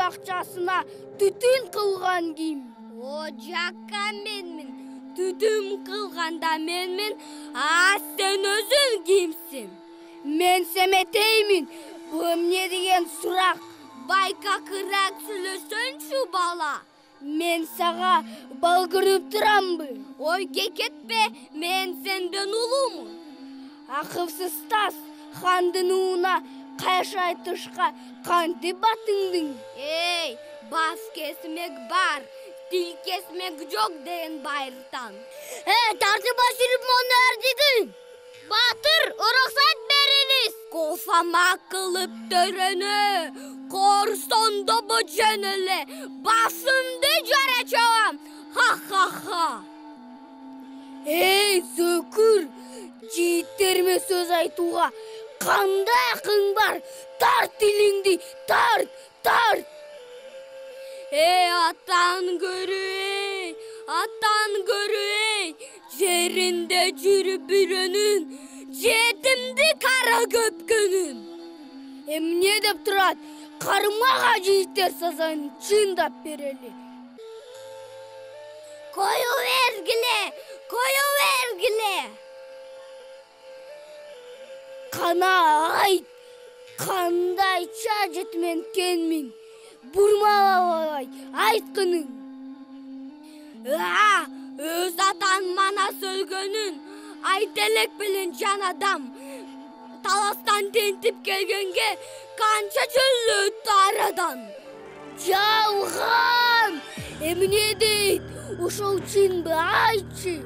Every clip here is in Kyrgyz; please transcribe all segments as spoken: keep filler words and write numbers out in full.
акчасына түтүн кылган ким? О жакка менмин. Түтүн кылганда менмин. А сен өзүң кимсиң? Мен Семетеймин. Бул эмне деген сурак? Байкакыраак сүйлөсөңчү бала. Мен сага балгырып турамбы? Ой кекетпе, мен сенден улумун. Акылсыз тас хандын ууна кайш айтышка кантип батыңдың? Эй, бас кесмек бар, тил кесмек жок деген байыртан. Э, тартып ашырып мону эрдигин. Батыр, уруксат бериңиз. Кофама кылып төрөнө, корсондо божөн эле, басымды жара чабам. Ха-ха-ха. Эй, зөкүр, жийиттериме сөз айтууга кандай акың бар? Тарт тилиңди, тарт, тарт. Эй, атан көрү, эй, атан көрү, эй, жеринде жүрүп үйрөнүн, жетимди кара көпкөнүн. Эмне деп турат? Кармага жийиттер сазанын чындап берели. Кою бергиле, кою бергиле. Кана айт, кандай чажет мен кенмин? Бурмалабай, айткының. А, өз атан мана сөлгөнүн, айт элек белен жан адам. Таластан тентип келгенге канча жыл өттү арадан. Жалган! Эмне дейт? Ушул чынбы, айтчы.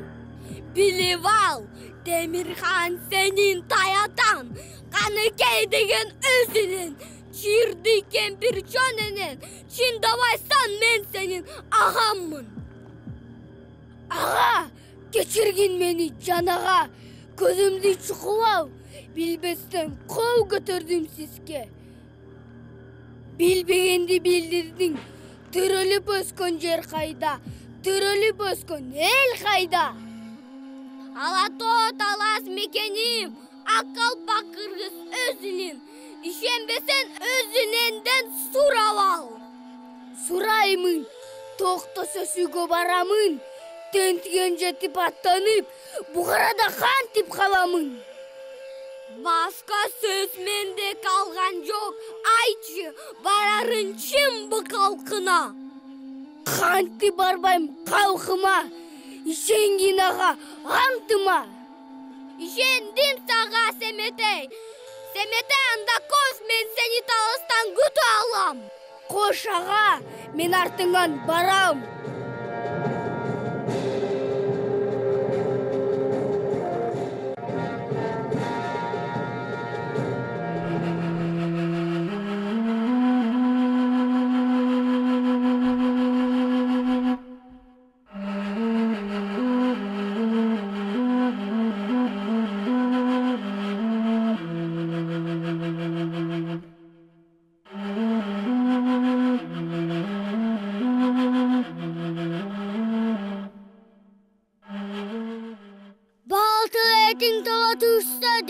Билип ал, Темирхан сенин таятан, Каныкей деген өзүнүн, Чирди кемпир чоненен, чындабайсан мен сенин агаммын. Ага, кечиргин мени жанага, көзүмдү чукуп ал, билбестен кол көтөрдүм сизге. Билбегенди билдирдиң, төрөлүп өскөн жер кайда, төрөлүп өскөн эл кайда? Ала тоо талас мекеним, ак калпак кыргыз өзүнүн, ишенбесен өзүнөндөн сурап ал. Сураймын, токтосо сүйгө барамын, тентиген жетип аттанып, Бухарада кантип каламын? Башка сөз менде калган жок, айтчы, барарын чынбы калкына? Кантип барбайм калкыма, ишенгин ага, антыма. Ишендим сага, Семетей. Семетей, анда кош, мен сени таластан күтүп алам. Кош ага, мен артыңан барам.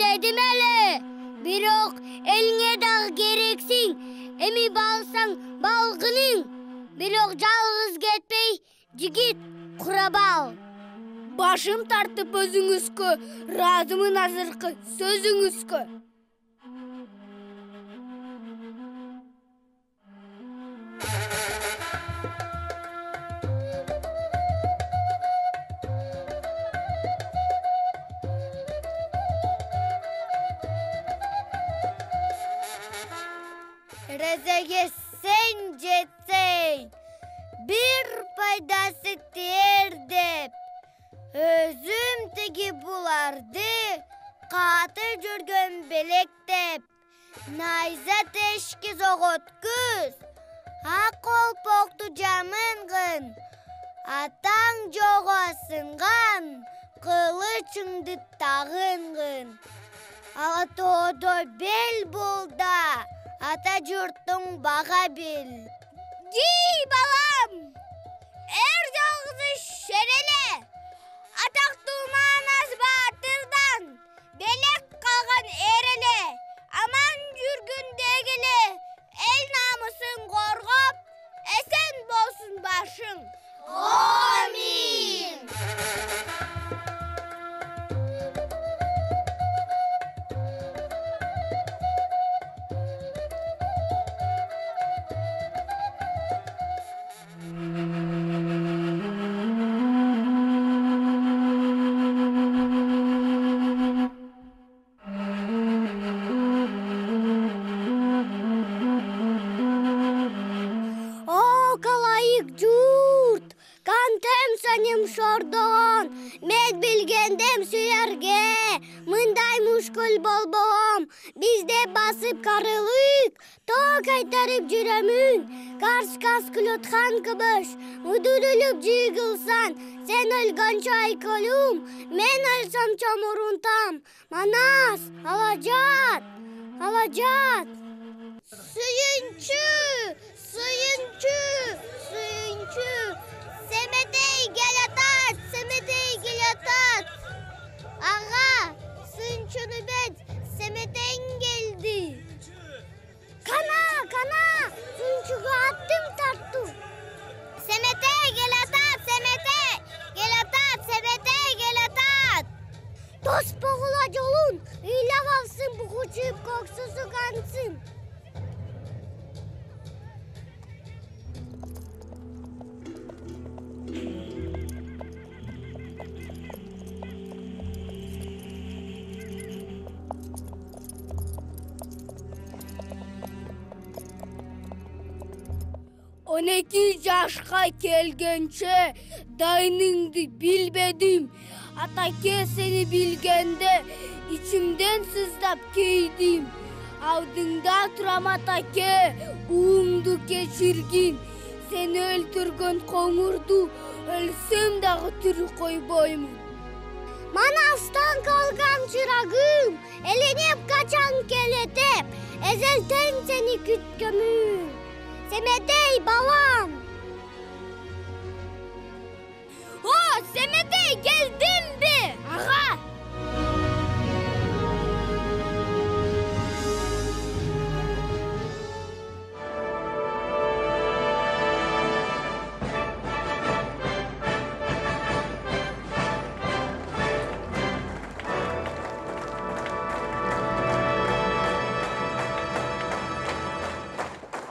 Dedim ele, birok eline dağ gereksin, emi balsan balgının, birok жалгыз кетпей, жигит курабал. Башым тартып өзүңүзгө, ыраазымын азыркы сөзүңүзгө. Резеге сен жетсең, bir пайдасы тиер деп, өзүм тиги буларды каты жүргөн белектеп, найза тешки зоготкуз, ак колпокту жамынгын, атаң жого сынган, кылычыңды тагынгын. Ала тоодо бел болда, ата журттуң бага бил. Ди балам, эр жалгызы шереле, атактуу маанас баатырдан, белек калган эреле, аман жүргүн дегеле, эл намысын коргоп, Амин. О, калайык журт, кантем саным шордон, мен билгендем силерге, мындай мушкул болбом, бизде басып карылык, тоо кайтарып жүрөмүн, карскас күлөтхан кыбыш, удурулуп жыгылсан, сен өлгөнчө айкөлүм, мен өлсөм чомурунтам, манас, алажат, алажат. Сүйүнчү, сүйүнчү, сүйүнчү, Семетей келатат, Семетей келатат. Ага, сүйүнчүнү бет, Семетең келди. Кана, кана, сүйүнчүгө аттым тарту. Семетей келатат, Семетей келатат, Семетей келатат. Тоспогула жолун, ыйлап алсын бугучуп коксусу кансын. он эки жашка келгенче дайныңды билбедим. Атаке сени билгенде ичимден сыздап кейдим. Алдыңда турам атаке, уумду кечиргин. Сени өлтүргөн коңурду өлсөм дагы тирүү койбоймун. Манастан калган чырагым, эленеп качан келетеп, эзелтен сени күткөмүн. Семетей балам. О, Семетей келдимби? Ага.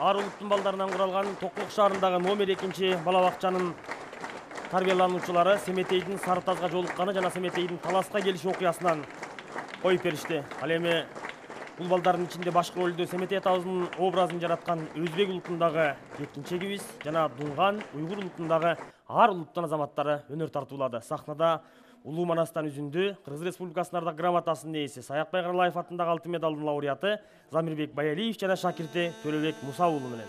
Ар улуттун балдарынан куралган Токтулук шаарындагы номер экинчи бала бакчанын тарбиялануучулары Семетейдин Сары Тазга жолукканы жана Семетейдин таласка келиши окуясынан коюп беришти. Ал эми бул балдардын ичинде башкы ролдо Семетей атабыздын образын жараткан өзбек улутундагы жеткинчегибиз жана Дунган уйгур улутундагы ар улуттун азаматтары өнөр тартуулады. Сахнада Улуу Манастан үзүндү Кыргыз Республикасынын ардак грамотасынын ээси Саякбай Каралаев атындагы алтын медалдын лауреаты Замирбек Баялиев жана шакирти Төлөбек Муса уулу менен.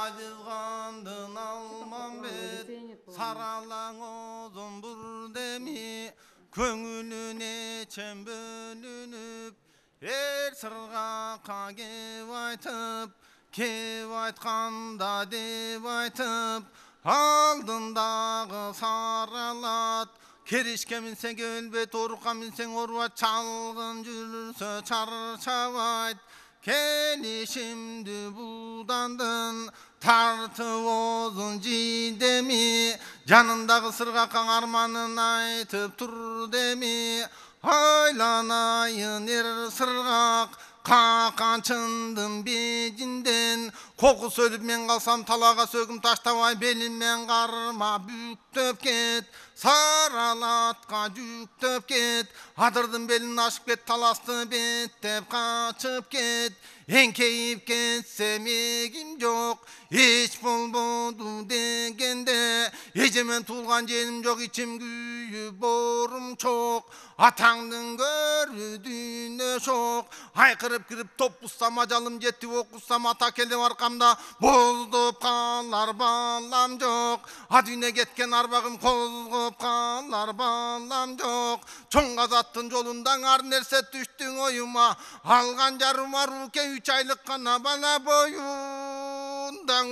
Ажызгандын алмамбет, саралаң озун бурдеми, көңүлүнө чен бөлүнүп, эр сыргакка кеп айтып, кеп айтканда деп айтып, алдындагы саралат, керишке минсең өлбөйт, орукка минсең орубайт, чалгын жүрсө чарчабайт. Келишимди будандын тартып озун жидеми, жанындагы сыргакка арманын айтып тур деми. Айланайын эр сыргак, каканчындын бежинден, кокус өлүп мен калсам талага сөгүм таштабай, белиммен карма бүктөп кет, саралатка жүктөп кет, адырдын белин ашып кет, таласты беттеп качып кет. Эңкейип кетсем эгим жок, эч болбоду дегенде, эжемен туулган женим жок, ичим күйүп боорум чок. Атаңдын көрү дүйнө шок, айкырып кирип топ бузсам ажалым жетти, окусам ата келип аркамда, боздоп калар балам жок. А дүйнө кеткен арбагым козгоп калар балам жок. Чоң азаттын жолунда ар нерсе түштүң оюма, алган жарым аруке үч айлык гана бала боюнда.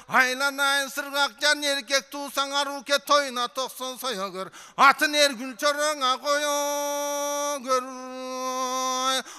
Айланайын сыргак жан эркек туусаң аруке, тойуна токсон соёгөр, атын эр гүл чораңа коёгөр.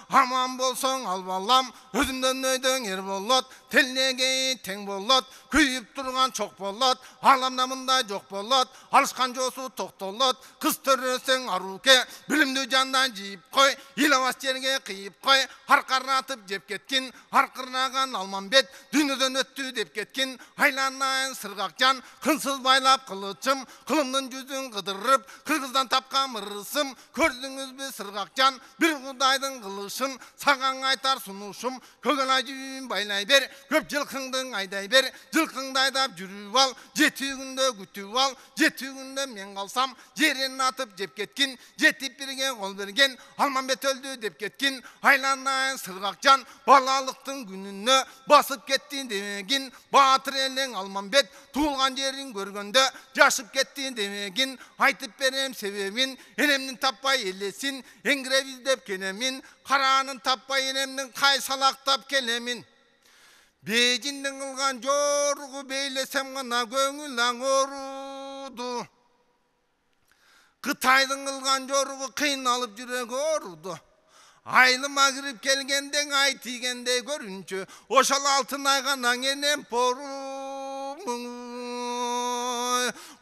аман болсоң ал балам, өзүмдөн өйдөң ер болот, телнеге тең болот, күйүп турган чок болот, аламда мындай жок болот, алышкан жоосу токтолот, кыз төрөсөң арууке, билимдүү жандан жийип кой, илабас жерге кыйып кой, аркаратып жеп кеткин, аркырнаган Алмамбет, дүйнөдөн өттү деп кеткин, айланайын сыргак жан, кынсыз байлап кылычым, кылымдын жүзүн кыдырып, кыргыздан тапкан мырысым, көрдүңүзбү сыргак жан, бир кудайдын кылышын, саган айтар сунушум, көгөн айжүйүн байлай бер, көп жылкыңдың айдай бер, жылкыңды айдап жүрүп ал, жети күндө күтүп ал, жети күндө мен калсам, жерин атып жеп кеткин, жетип бирге кол берген, Алмамбет өлдү деп кеткин, айланайын сыргак жан, балалыктын күнүнө басып кеттин демегин, баатыр элең Алмамбет, туулган жерин көргөндө жашып кеттин демегин, айтып берем себебин, энемдин таппай элесин, эңгиреп издеп келемин, караанын таппай энемдин кай салактап келемин. Бейжиндин кылган жоругу бейлесем гана көңүл аңоруду. Кытайдын кылган жоругу кыйналып жүрөк ооруду. Айылыма кирип келгенден ай тийгендей көрүнчү, ошол алтын айганан энем порум.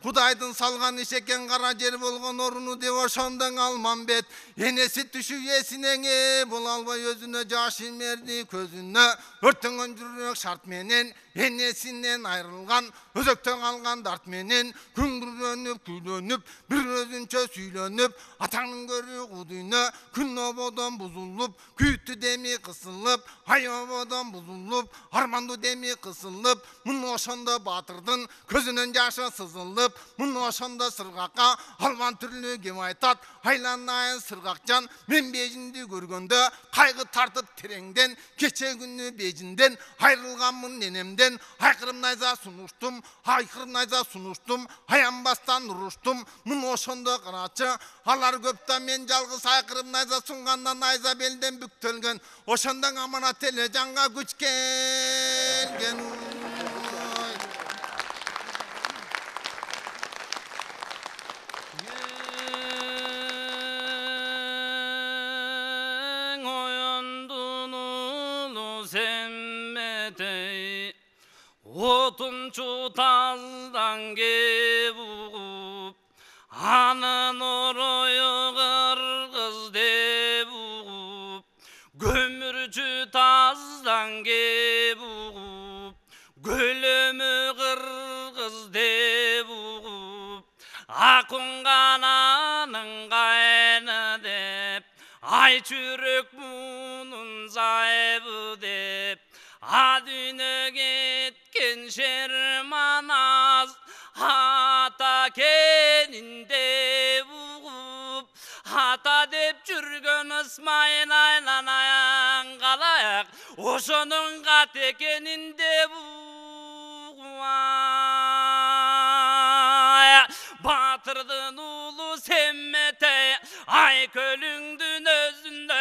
Кудайдын салган иш экен кара жер болгон оруну деп ошондон Алмамбет, энеси түшүп эсинең боло албай өзүнө жаш имерди көзүнө, өртөнгөн жүрөк шарт менен энесинен айрылган, өзөктө калган дарт менен күңгүрөнүп күйлөнүп, бир өзүнчө сүйлөнүп, атаңдын көрү кудүйнө күн ободон бузулуп, күйүттү деми кысылып, ай ободон бузулуп, армандуу деми кысылып, муну ошондо баатырдын көзүнөн жашы сызылып, муну ошондо сыргакка албан түрлүү кеп айтат, айланайын сыргак жан, мен Бейжинди көргөндө кайгы тартып тереңден, кече күнү Бейжинден айрылганмын энемден, айкырып найза сунуштум, айкырып найза сунуштум, аянбастан уруштум, муну ошондо карачы, алар көп да мен жалгыз айкырып найза сунгандан найза белден бүктөлгөн, ошондон аманат эле жанга күч келген. Отунчу таздан кеп угуп, анын орою кыргыз деп угуп, көмүрчү таздан кеп угуп, көлөмү кыргыз деп угуп, акунган анын кайны деп, ай чүрөк мунун зайыбы деп, а дүйнө кеткен Шерманаз ата кенинде угуп, ата деп жүргөн Ысмайыл айланайын калаяк, ошонун кат экенинде угуп. Батырдын уулу Семметей, ай көлүңдүн өзүндө,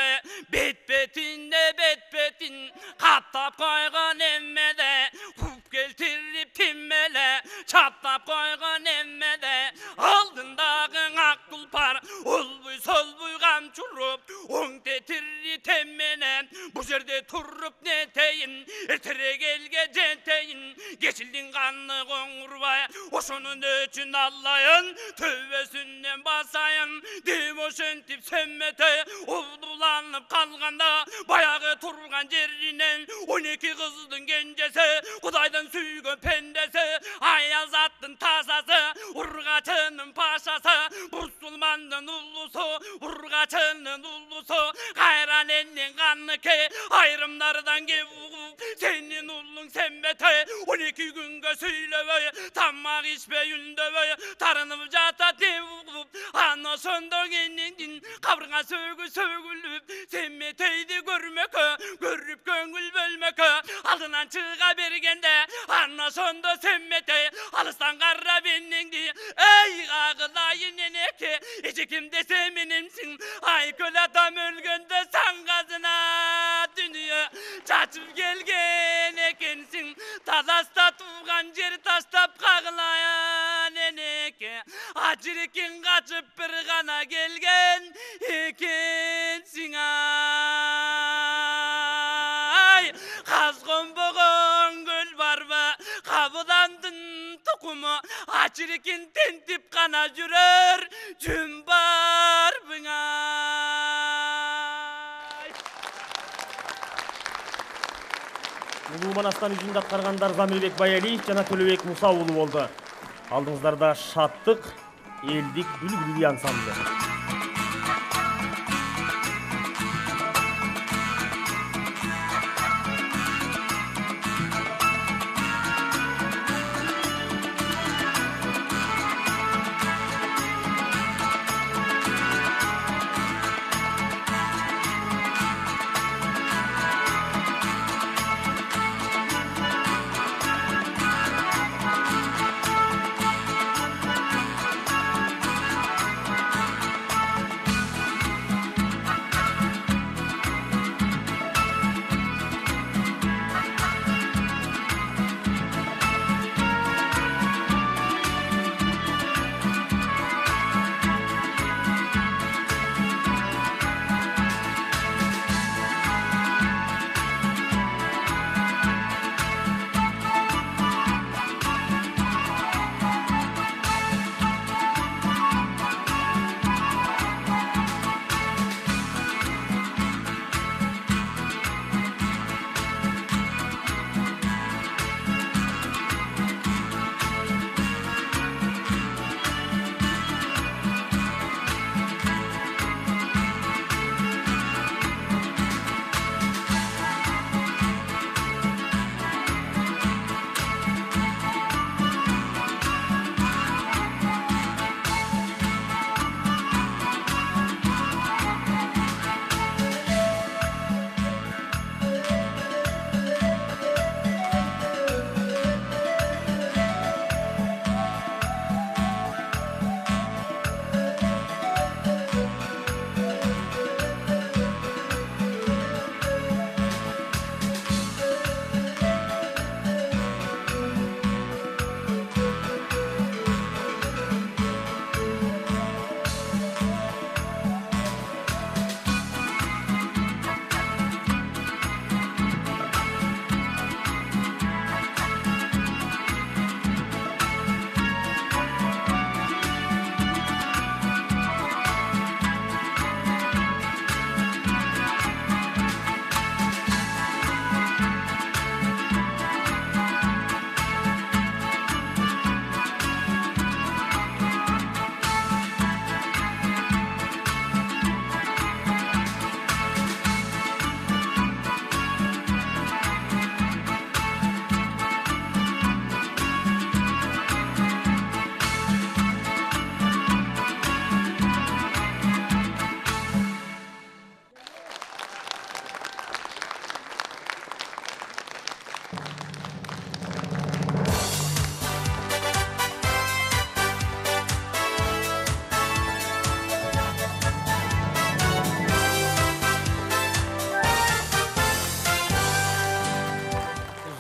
бет бетинде бет бетин каттап койгон эммеде, куп келтирип тиммеле чаттап койгон эммеде, алдындагы ак тулпар олбуй солбуй камчуруп, оң тетири теммене, бу жерде туруп нетейин, эртерээк элге жетейин, кечилдин каны коңурбай, ошонун өчүн аллайын, төбөсүнөн басайын деп ошентип Семметей обдуланып калганда, баягы турган жеринен он эки кыздын кенжеси, Кудайдын сүйгөн пендеси, аязаттын тазасы, ургачынын пашасы, мусулмандын улусу, ургачынын улусу, кайран элдин каныке, айрымдардан кеп угуп, сенин уулуң Семметей он эки күнгө сүйлөбөй, тамак ичпей үндөбөй, тарынып жатат деп угуп, аны ошондо кенендин кабырга сөгү сөгүлүп, Семметейди көрмөккө, көрүп көңүл бөлмөккө, алдынан чыга бергенде, аны ошондо Семметей алыстан карап энеңди, эй кагылайын энеке, эчеким десе менемсиң, ай көл атам өлгөндө саңгазына дүнүйө чачып келген экенсиң, тазаста тууган жер таштап кагылайын энеке, ажырекин качып бир гана келген экенсиң. окуму ачырекин тентип кана жүрөр жүн бар быңай. Улуу Манастан үчүн аткаргандар Замирбек Баялиев жана Төлөбек Муса уулу болду. Алдыңыздарда шаттык элдик бүлбүл ансамблы.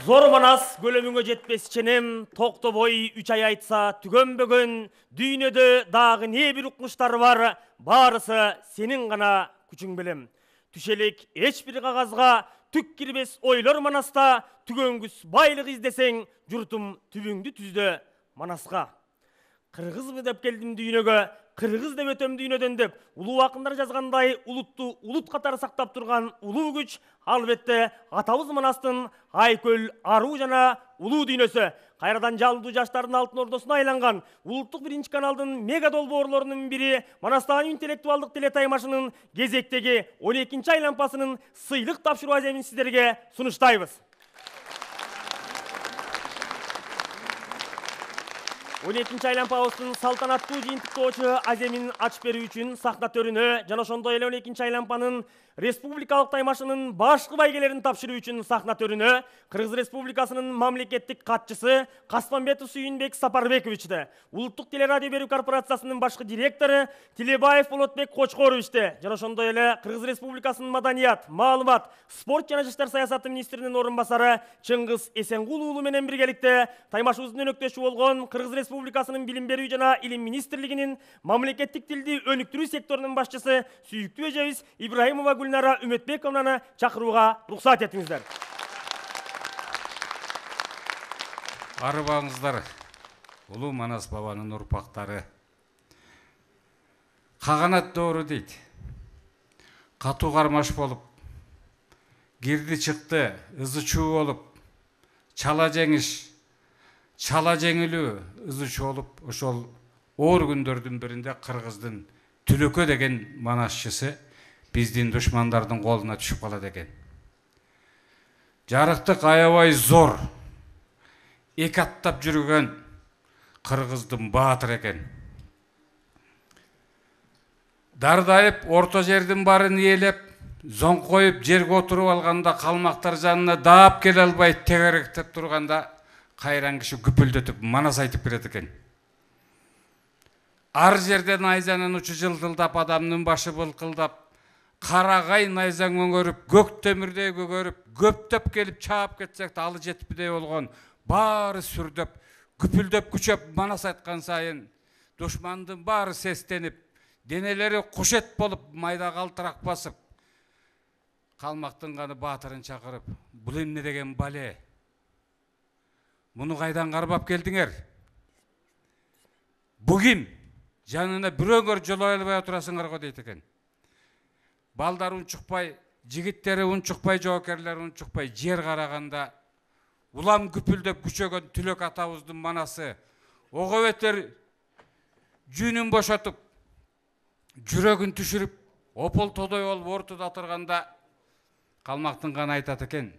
Зор Манас көлөмүңө жетпес ченем, токтобой үч ай айтса түгөнбөгөн, дүйнөдө дагы не бир укмуштар бар, баарысы сенин гана күчүң билем. Түшелек эч бир кагазга түк кирбес ойлор Манаста, түгөнгүс байлык издесең, журтум түбүңдү түздө Манаска. Кыргызбы деп келдим дүйнөгө, кыргыз деп өтөм дүйнөдөн деп, улуу акындар жазгандай улутту улут катары сактап турган улуу күч, албетте атабыз Манастын Айкөл, Аруу жана улуу дүйнөсү. Кайрадан жалдуу жаштардын алтын ордосуна айланган улуттук биринчи каналдын мега долбоорлорунун бири Манастагы интеллектуалдык телетаймашынын кезектеги он экинчи айлампасынын сыйлык тапшыруу аземин сиздерге сунуштайбыз. он экинчи айлампабыздын салтанаттуу жыйынтыктоочу аземин ачып берүү үчүн сахна төрүнө жана ошондой эле он экинчи айлампанын республикалык таймашынын башкы байгелерин тапшыруу үчүн сахна төрүнө Кыргыз Республикасынын мамлекеттик катчысы Каспамбетов Сүйүнбек Сапарбековичти, улуттук телерадио берүү корпорациясынын башкы директору Тилебаев Болотбек Кочкоровичти жана ошондой эле Кыргыз Республикасынын маданият, маалымат, спорт жана жаштар саясаты министринин орун басары Чыңгыз Эсенгул уулу менен биргеликте таймашыбыздын өнөктөшү болгон Кыргыз Республикасынын билим берүү жана илим министрлигинин мамлекеттик тилди өнүктүрүү секторунун башчысы сүйүктүү эжебиз Ибраимова Гүлнара Үмөтбековнаны чакырууга уруксат этиңиздер. Арыбаңыздар. улуу Манас бабанын урпактары. Каганат доору дейт. Катуу кармаш болуп, кирди чыкты, ызы чуу болуп, чала жеңиш, чала жеңилүү ызы чуу болуп, ошол оор күндөрдүн биринде Кыргыздын Түлөкө деген манасчысы биздин душмандардын колуна түшүп калат экен. Жарыктык аябай зор, эки аттап жүргөн Кыргыздын баатыр экен. Дардайып, орто жердин барын ээлеп, зоңкоюп жерге отуруп алганда калмактар жанына даап келе албай тегеректеп турганда кайран киши күпүлдөтүп манас айтып берет экен. Ар жерден найзанын учу жылтылдап, адамдын башы былкылдап, карагай найзаң өңөрүп, көк темирдей көгөрүп, көптөп келип чаап кетсек алы жетпидей болгон, баары сүрдөп, күпүлдөп күчөп манас айткан сайын душмандын баары сестенип, денелери кушет болуп, майда калтырак басып, калмактын ганы баатырын чакырып, бул эмне деген бале? Муну кайдан кармап келдиңер? Бу ким? Жанына бирөңөр жолой албай отурасыңар го дейт экен. Балдар унчукпай, жигиттери унчукпай, жоокерлери унчукпай, жер караганда улам күпүлдөп күчөгөн Түлөк атабыздын манасы ого бетер жүнүн бошотуп, жүрөгүн түшүрүп, опол тодой болуп ортодо отурганда калмактын ганы айтат экен.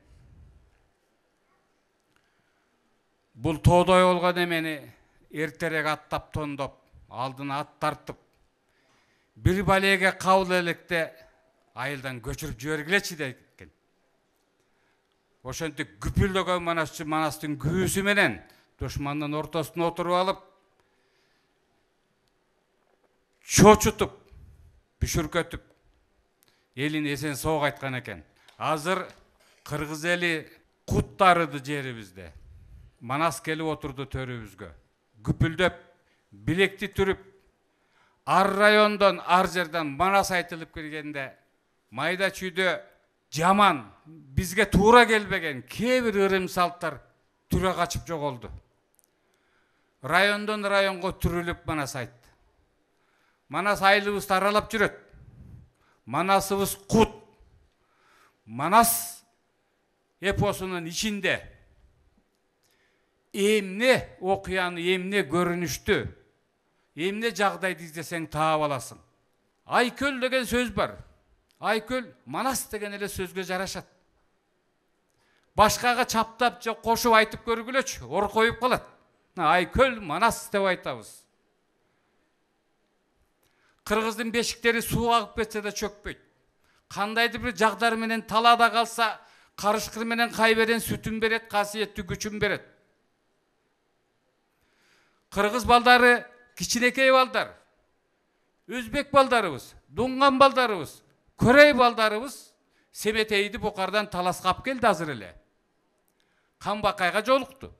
Бул тодой болгон эмени эртерээк аттап тондоп, алдына ат тартып, бир балеге кабыл электе айылдан көчүрүп жибергилечи дейт экен. Ошентип күпүлдөгөн манасчы манастын күүсү менен душмандын ортосуна отуруп алып, чочутуп, бүшүркөтүп, элин эсен соог айткан экен. Азыр кыргыз эли кут тарыды жерибизде. Манас келип отурду төрүбүзгө. Күпүлдөп, билекти түрүп, ар райондон, ар жерден манас айтылып келгенде, майда чүйдө жаман, бизге туура келбеген кээ бир ырым салттар түрө качып жоголду. Райондон районго түрүлүп манас айтты. Манас айылыбызды аралап жүрөт. Манасыбыз кут. Манас эпосунун ичинде эмне окуяны, эмне көрүнүштү, эмне жагдайды издесең таап аласың. Айкөл деген сөз бар. Айкөл манас деген эле сөзгө жарашат. Башкага чаптап же кошуп айтып көргүлөчү, ор коюп калат. Айкөл манас деп айтабыз. Кыргыздын бешиктери суу агып кетсе да чөкпөйт. Кандайдыр бир жагдар менен талаада калса, карышкыр менен кайберен сүтүн берет, касиеттүү күчүн берет. Кыргыз балдары кичинекей балдар, өзбек балдарыбыз, дуңган балдарыбыз, корей балдарыбыз Семетейди Букардан таласкап келди азыр эле. Камбакайга жолукту.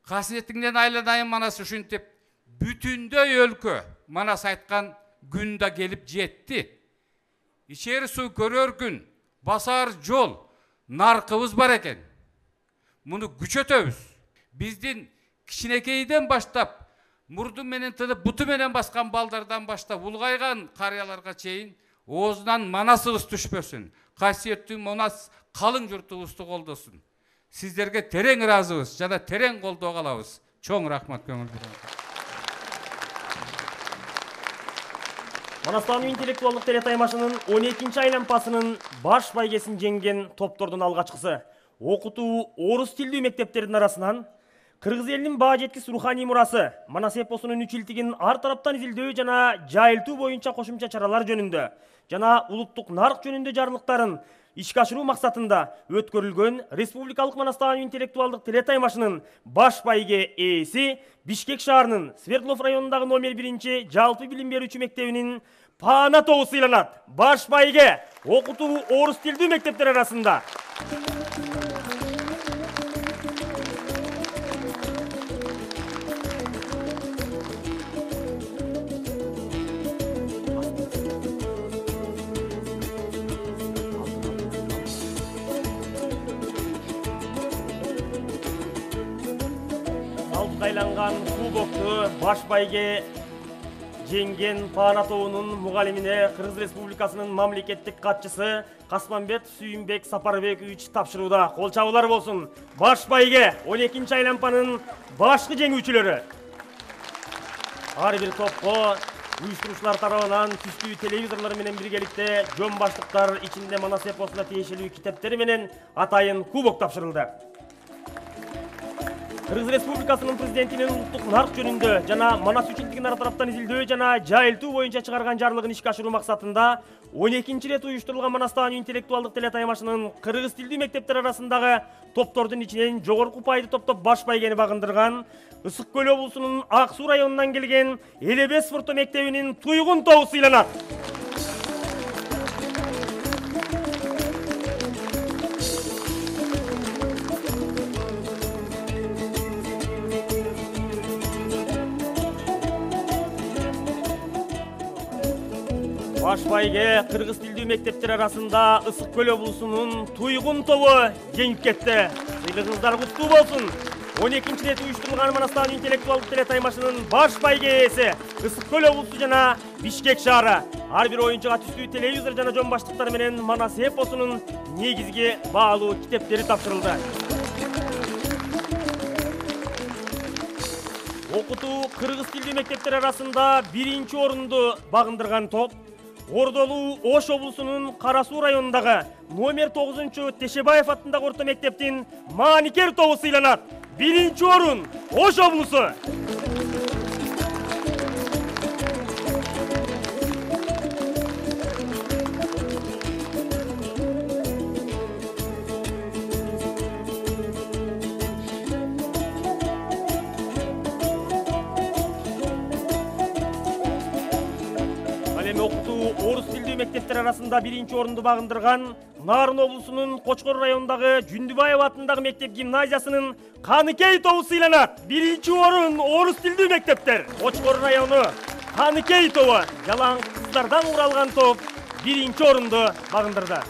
Касиетиңден айланайын манас ушинтип, бүтүндөй өлкө манас айткан күн да келип жетти. Ичери суу көрөр күн, басар жол, наркыбыз бар экен. Муну күчөтөбүз. Биздин кичинекейден баштап, мурду менен тынып, буту менен баскан балдардан баштап, улгайган карыяларга чейин оозунан манасыбыз түшпөсүн. Касиеттүү манас калың журтубузду колдосун. Сиздерге терең ыраазыбыз, жана терең колдоо калабыз. Чоң рахмат көңүл буруу. Манастан интеллектуалдык телетаймашынын он экинчи айлампасынын баш байгесин жеңген топтордун алгачкысы. Окутуу орус тилдүү мектептердин арасынан Кыргыз элинин баа жеткис руханий мурасы, манас эпосунун үчилтигин ар тараптан изилдөө жана жайылтуу боюнча кошумча чаралар жөнүндө жана улуттук нарык жөнүндө жарлыктарын ишке ашыруу максатында өткөрүлгөн республикалык манастан интеллектуалдык телетаймашынын баш байге ээси Бишкек шаарынын Свердлов районундагы номер биринчи жалпы билим берүүчү мектебинин паана тобу сыйланат. Баш байге окутуу орус тилдүү мектептер арасында. алтыга айланган кубокту баш байге жеңген Паана тобунун мугалимине Кыргыз Республикасынын мамлекеттик катчысы Касманбет Сүйүнбек Сапарбекович тапшырууда. Кол чабуулар болсун. Баш байге он экинчи айлампанын башкы жеңүүчүлөрү. Ар бир топко уюштуруучулар тарабынан түстүү телевизорлор менен биргеликте жөн баштыктар ичинде Манас эпосуна тиешелүү китептери менен атайын кубок тапшырылды. Кыргыз Республикасынын президентинин улуттук нарк жөнүндө жана Манас үчүндүгү нар тараптан изилдөө жана жайылтуу боюнча чыгарган жарлыгын ишке ашыруу максатында он экинчи ирет уюштурулган Манастагы интеллектуалдык телетаймашынын кыргыз тилдүү мектептер арасындагы топтордун ичинен жогорку упайды топтоп баш байгени багындырган Ысык Көл облусунун Ак Суу районунан келген Элебес спорттоо мектебинин Туйгун тобу сыйланат. Баш байге кыргыз тилдүү мектептер арасында Ысык Көл облусунун Туйгун тобу жеңип кетти. Сыйлыгыңыздар куттуу болсун. он экинчи рет уюштурулган Манастагы интеллектуалдык телетаймашынын баш байге ээси Ысык Көл облусу жана Бишкек шаары. Ар бир оюнчуга түстүү телевизор жана жөн баштыктар менен Манас эпосунун негизги баалуу китептери тапшырылды. Окутуу кыргыз тилдүү мектептер арасында биринчи орунду багындырган топ Ордолуу Ош облусунун Кара Суу районундагы номер тогузунчу Тешебаев аттындагы орто мектептин Maanikер тобу сыйланат. Биринчи орун Ош облусу. Окутуу орус тилдүү мектептер арасында биринчи орунду багындырган Нарын облусунун Кочкор районундагы Жүндүбаев аттындагы мектеп гимназиясынын Каныкей тобу сыйланат. Биринчи орун орус тилдүү мектептер. Кочкор району Каныкей тобу жалаң кыздардан куралган топ биринчи орунду багындырды.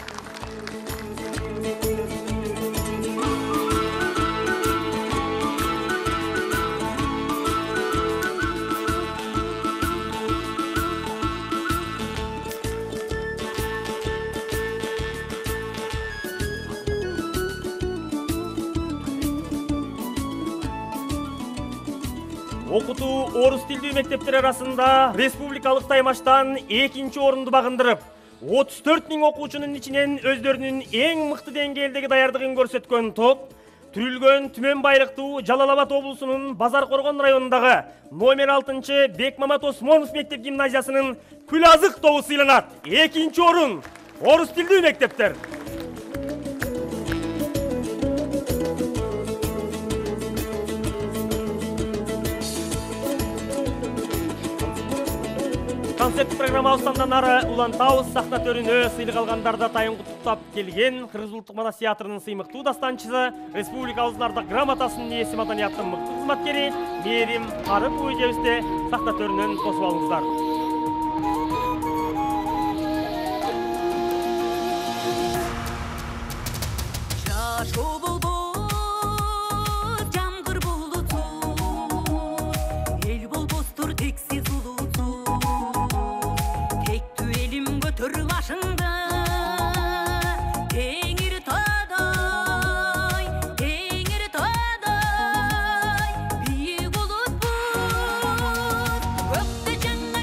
Окутуу орус тилдүү мектептер арасында республикалык таймаштан экинчи орунду багындырып, отуз төрт миң окуучунун ичинен өздөрүнүн эң мыкты деңгээлдеги даярдыгын көрсөткөн топ Түрүлгөн Түмөн Байрактуу Жалал Абад облусунун Базар Коргон районундагы номер алтынчы Бекмамат Осмонов мектеп гимназиясынын Күлазык тобу сыйланат. Экинчи орун орус тилдүү мектептер. Концерт программабыздан ары улантабыз. Сахна төрүнө сыйлык алгандарда тайын куттуктап келген Кыргыз улуттук Манас театрынын сыймыктуу дастанчысы, республикабыздын ардак грамотасынын ээси, маданияттын мыкты кызматкери Мээрим Арыпова эжебизди сахна төрүнөн тосуп алыңыздар. Көкте жаңа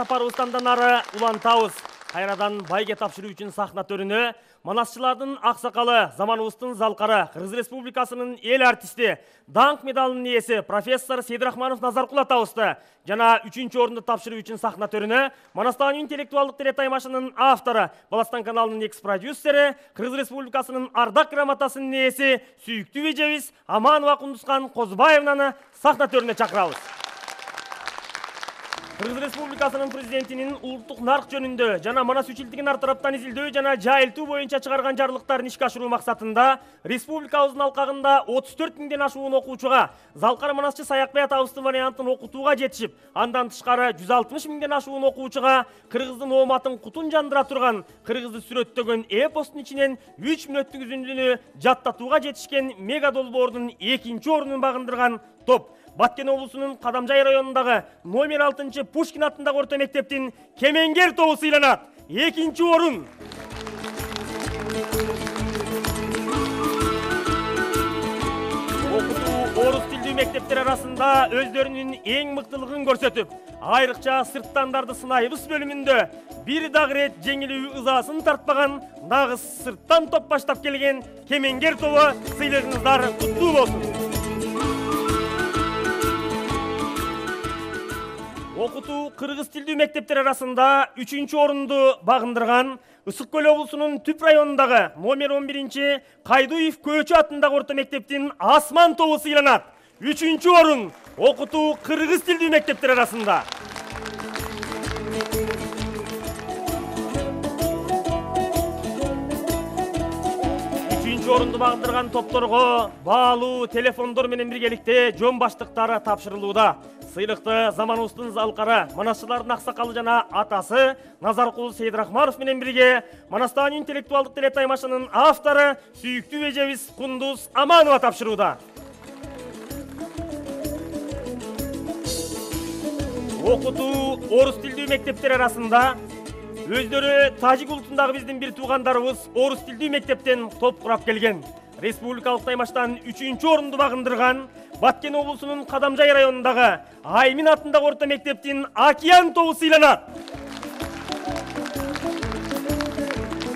сапарыбыздан ары улантабыз. Кайрадан байге тапшыруу үчүн сахна төрүнө манасчылардын аксакалы, заманыбыздын залкары, Кыргыз Республикасынын эл артисти, даңк медалынын ээси профессор Сейдирахманов Назаркул атабызды жана үчүнчү орунду тапшыруу үчүн сахна төрүнө Манастан интеллектуалдык телетаймашынын автору, Баластан каналынын экс продюсери, Кыргыз Республикасынын ардак грамотасынын ээси сүйүктүү эжебиз Аманова Кундускан Козбаевнаны сахна төрүнө чакырабыз. Кыргыз Республикасынын президентинин улуттук нарк жөнүндө жана манас үчилтигин ар тараптан изилдөө жана жайылтуу боюнча чыгарган жарлыктарын ишке ашыруу максатында республикабыздын алкагында отуз төрт миңден ашуун окуучуга залкар манасчы Саякбай атабыздын вариантын окутууга жетишип, андан тышкары жүз алтымыш миңден ашуун окуучуга кыргыздын ооматын кутун жандыра турган кыргызды сүрөттөгөн эпостун ичинен үч мүнөттүк үзүндүнү жаттатууга жетишкен мега долбоордун экинчи орунун багындырган топ Баткен облусунун Кадамжай районундагы номер алтынчы Пушкин атындагы орто мектептин Кемеңгер тобу сыйланат. Экинчи орун. Окутуу орус тилдүү мектептер арасында өздөрүнүн эң мыктылыгын көрсөтүп, айрыкча сырттандарды сынайбыз бөлүмүндө бир дагы рет жеңилүү ызасын тартпаган нагыз сырттан топ баштап келген Кемеңгер тобу сыйлыгыңыздар куттуу болсун. Окутуу кыргыз тилдүү мектептер арасында үчүнчү орунду багындырган Ысык Көл облусунун Түп районундагы номер он биринчи Кайдуев Көчү атындагы орто мектептин Асман тобу сыйланат. Үчүнчү орун окутуу кыргыз тилдүү мектептер арасында. Үчүнчү орунду багындырган топторго баалуу телефондор менен биргеликте жон баштыктары тапшырылууда. Сыйлыкты заманыбыздын залкары, манасчылардын аксакалы жана атасы Назаркул Сейдирахманов менен бирге Манастан интеллектуалдык телетаймашынын автору сүйүктүү эжебиз Кундуз Аманова тапшырууда. Окутуу орус тилдүү мектептер арасында өздөрү тажик улутундагы биздин бир туугандарыбыз орус тилдүү мектептен топ курап келген. Республикалык таймаштан үчүнчү орунду багындырган Баткен облусунун Кадамжай районундагы Аймин атындагы орто мектептин Океан тобу сыйланат.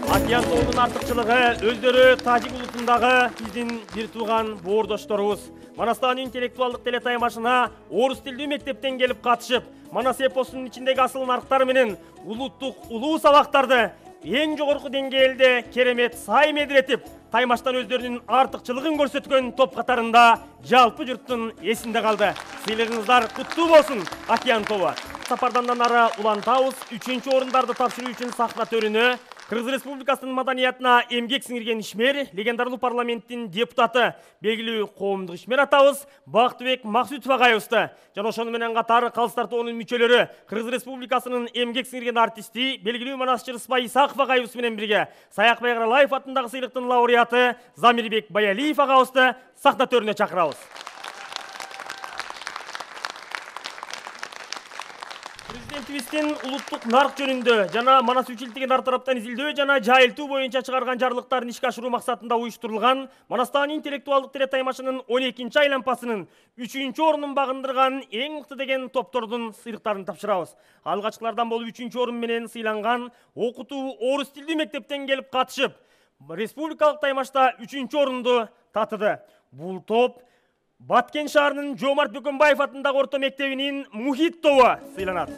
Океан тобунун артыкчылыгы өздөрү тажик улутундагы биздин бир тууган боордошторубуз. Манастан интеллектуалдык телетаймашына орус тилдүү мектептен келип катышып, манас эпосунун ичиндеги асыл нарктар менен улуттук улуу сабактарды эң жогорку деңгээлде керемет сай медиретип, таймаштан өздөрүнүн артыкчылыгын көрсөткөн топ катарында жалпы журттун эсинде калды. Сыйлыгыңыздар куттуу болсун, Океан тобу. Сапардан ары улантабыз. Үчүнчү орундарды тапшыруу үчүн сахна төрүнө Кыргыз Республикасынын маданиятына эмгек сиңирген ишмер, легендарлуу парламенттин депутаты, белгилүү коомдук ишмер атабыз Бактыбек Максутов агайыбызды жана ошону менен катар калыс тартуунун мүчөлөрү Кыргыз Республикасынын эмгек сиңирген артисти, белгилүү манасчы Рыспай Исаков агайыбыз менен бирге Саякбай Каралаев атындагы сыйлыктын лауреаты Замирбек Баялиев агабызды сахна төрүнө чакырабыз. Президентибиздин улуттук нарк жөнүндө жана манас үчилтигин ар тараптан изилдөө жана жайылтуу боюнча чыгарган жарлыктарын ишке ашыруу максатында уюштурулган Манастан интеллектуалдык телетаймашынын он экинчи айланпасынын үчүнчү орунун багындырган эң мыкты деген топтордун сыйлыктарын тапшырабыз. Алгачкылардан болуп үчүнчү орун менен сыйланган окутуу орус тилдүү мектептен келип катышып, республикалык таймашта үчүнчү орунду татыды. Бул топ Баткен шаарынын Жомарт Бөкөнбаев атындагы орто мектебинин Мухит тобу сыйланат.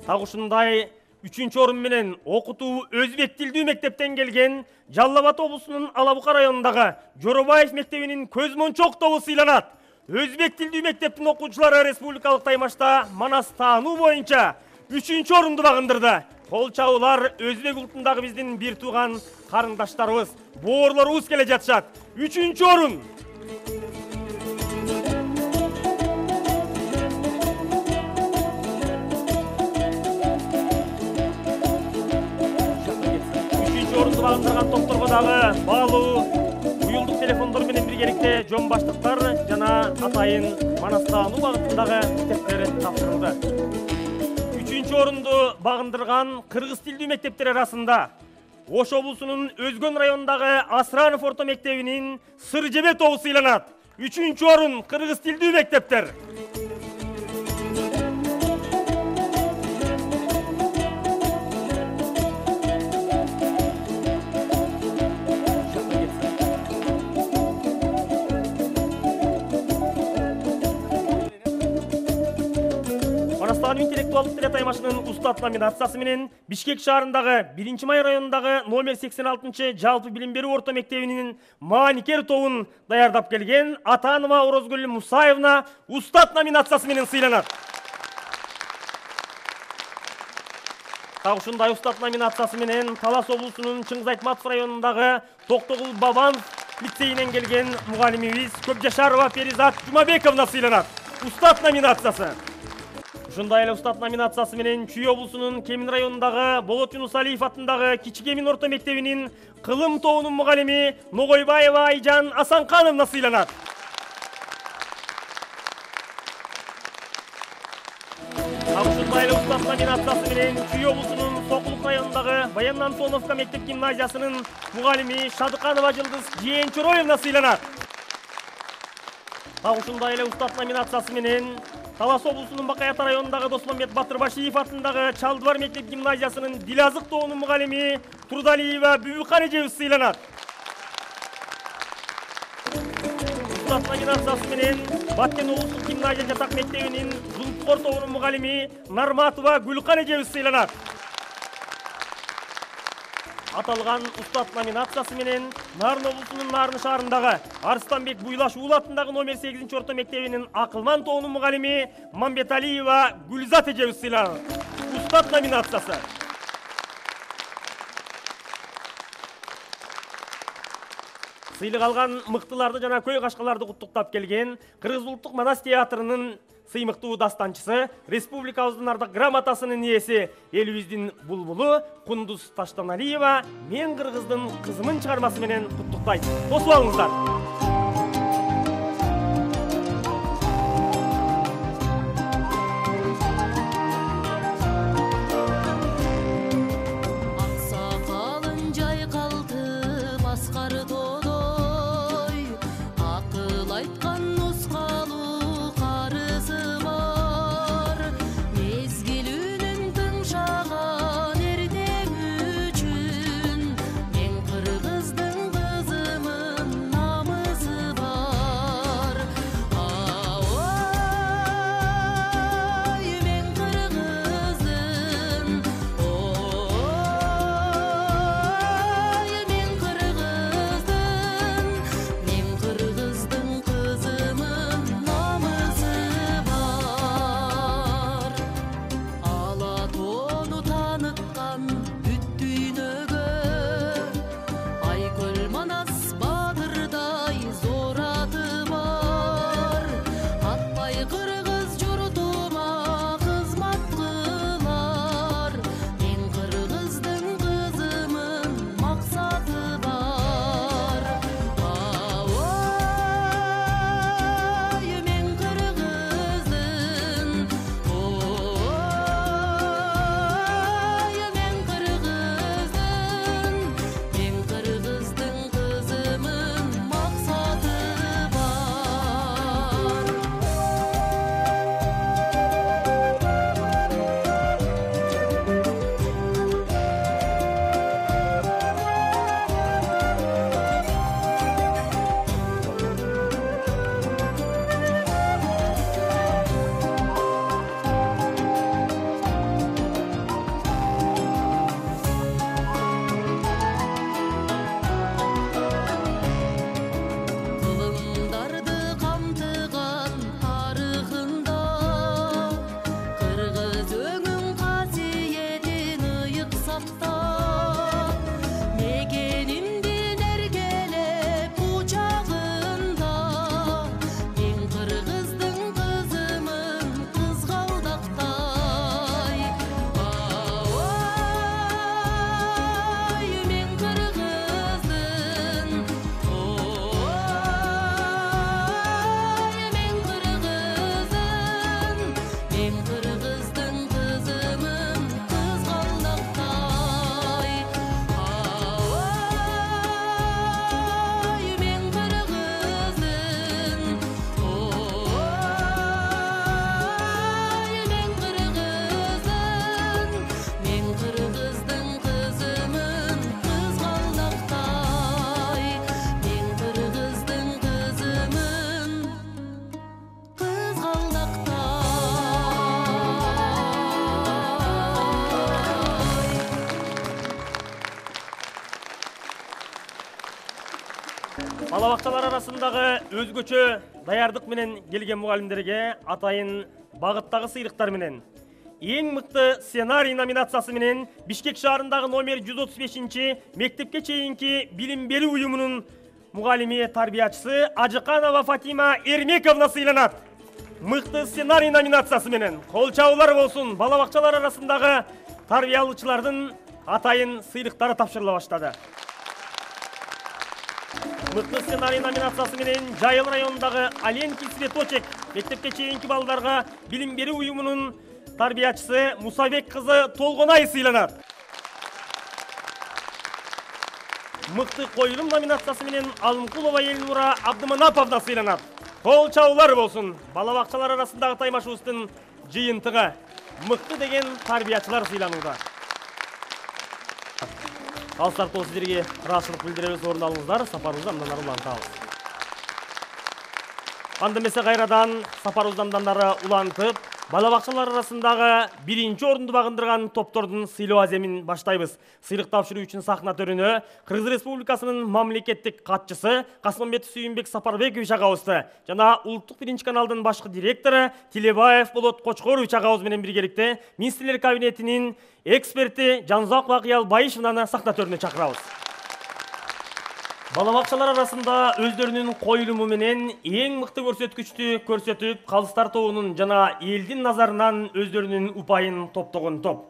Так ушундай үчүнчү орун менен окутуу өзбек тилдүү мектептен келген Жалал Абад облусунун Ала Бука районундагы Жоробаев мектебинин Көзмончок тобу сыйланат. Өзбек тилдүү мектептин окуучулары республикалык таймашта манас таануу боюнча үчүнчү орунду багындырды. Кол чабуулар өзбек улутундагы биздин бир тууган карындаштарыбыз, боорлорубуз келе жатышат. Үчүнчү орун. Үчүнчү орунду багындырган топторго дагы баалуу уюлдук телефондор менен биргеликте жон баштыктар жана атайын манас таануу багытындагы китептер тапшырылды. биринчи орунду багындырган кыргыз тилдүү мектептер арасында Ош облусунун Өзгөн районундагы Асранов орто мектебинин Сыржебе тобу сыйланат. Үчүнчү орун кыргыз тилдүү мектептер. Манастагы интеллектуалдык тил таймашынын устат номинациясы менен Бишкек шаарындагы биринчи май районундагы номер сексен алтынчы жалпы билим берүү орто мектебинин мааникер тобун даярдап келген Атанова Орозгүл Мусаевна устат номинациясы менен сыйланат. Так ушундай устат номинациясы менен Талас облусунун Чыңгыз Айтматов районундагы Токтогул Бабанов лицейинен келген мугалимибиз Көпжашарова Перизат Жумабековна сыйланат. Устат номинациясы. Ушундай эле устат номинациясы менен Чүй облусунун Кемин районундагы Болот Жунусалиев атындагы Кичи Кемин орто мектебинин кылым тобунун мугалими Ногойбаева Айжан Асанкановна сыйланат. Ушундай эле устат номинациясы менен Чүй облусунун Сокулук районундагы Баян Антоновка мектеп гимназиясынын мугалими Шадыканова Жылдыз Жээнчороевна сыйланат. Так ушундай эле устат номинациясы менен Талас облусунун Бакай Ата районундагы Досмамбет Батырбашиев атындагы Чалдыбар мектеп гимназиясынын Дилазык тобунун мугалими Турдалиева Бүбүкан эжебиз сыйланат. Устат номинациясы менен Баткен облустук гимназия жатак мектебинин Зулпкор тобунун мугалими Нарматова Гүлкан эжебиз сыйланат. Аталган устат номинациясы менен Нарын облусунун Нарын шаарындагы Арыстанбек Буйлаш уулу атындагы номер сегизинчи орто мектебинин Акылман тобунун мугалими Мамбеталиева Гүлзат эжебиз сыйланат. Устат номинациясы. Сыйлык алган мыктыларды жана көй кашкаларды куттуктап келген Кыргыз улуттук манас театрынын сыймыктуу дастанчысы, республикабыздын ардак грамотасынын ээси, элибиздин булбулу Кундуз Таштаналиева Мен кыргыздын кызымын чыгармасы менен куттуктайт. Тосуп алыңыздар. Kızım бакчалар арасындагы өзгөчө даярдык менен келген мугалимдерге атайын багыттагы сыйлыктар менен эң мыкты сценарий номинациясы менен Бишкек шаарындагы номер жүз отуз бешинчи мектепке чейинки билим берүү уюмунун мугалими тарбиячысы Ажыканова Фатима Эрмековна сыйланат. Мыкты сценарий номинациясы менен кол чабуулар болсун. Бала бакчалар арасындагы тарбиялаучылардын атайын сыйлыктары тапшырыла баштады. Мыкты сценарий номинациясы менен Жайыл районундагы Аленкий цветочек мектепке чейинки балдарга билим берүү уюмунун тарбиячысы Мусабек кызы Толгонай сыйланат. Мыкты коюлум номинациясы менен Алымкулова Элнура Абдыманаповна сыйланат. Кол чабуулар болсун. Бала бакчалар арасындагы таймашыбыздын жыйынтыгы мыкты деген тарбиячылар сыйланууда. Калыстар топ сиздерге ыраазычылык билдиребиз, орун алыңыздар, сапарыбызды андан ары улантабыз. Анда эмесе кайрадан сапарыбызды андан ары улантып, бала бакчалар арасындагы биринчи орунду багындырган топтордун сыйлоо аземин баштайбыз. Сыйлык тапшыруу үчүн сахна төрүнө Кыргыз Республикасынын мамлекеттик катчысы Касымбек Сүйүнбек Сапарбекович агабызды жана улуттук биринчи каналдын башкы директору Тилебаев Болот Кочкорович агабыз менен биргеликте министрлер кабинетинин эксперти Жанзак Акыялбаеваны сахна төрүнө чакырабыз. Бала бакчалар арасында өздөрүнүн коюлуму менен эң мыкты көрсөткүчтү көрсөтүп, калыстар тобунун жана элдин назарынан өздөрүнүн упайын топтогон топ.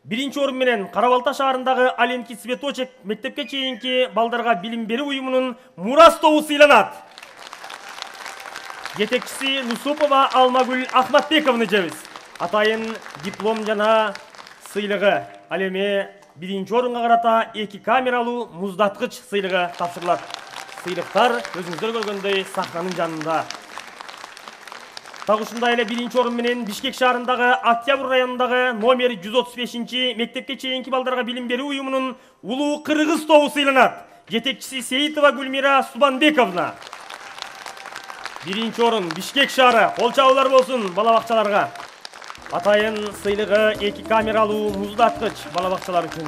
Биринчи орун менен Карабалта шаарындагы Аленкий цветочек мектепке чейинки балдарга билим берүү уюмунун Мурас тобу сыйланат. Жетекчиси Нусупова Алмагүл Ахматбековна жебиз. Атайын диплом жана сыйлыгы. Ал эми биринчи орунга карата эки камералуу муздаткыч сыйлыгы тапшырылат. Сыйлыктар өзүңүздөр көргөндөй сахнанын жанында. Так ушундай эле биринчи орун менен Бишкек шаарындагы Октябрь районундагы номер жүз отуз бешинчи мектепке чейинки балдарга билим берүү уюмунун Улуу Кыргыз тобу сыйланат. Жетекчиси Сейитова Гүлмира Субанбековна. Биринчи орун Бишкек шаары. Кол чабуулар болсун бала бакчаларга. Атайын сыйлыгы эки камералуу муздаткыч бала бакчалар үчүн.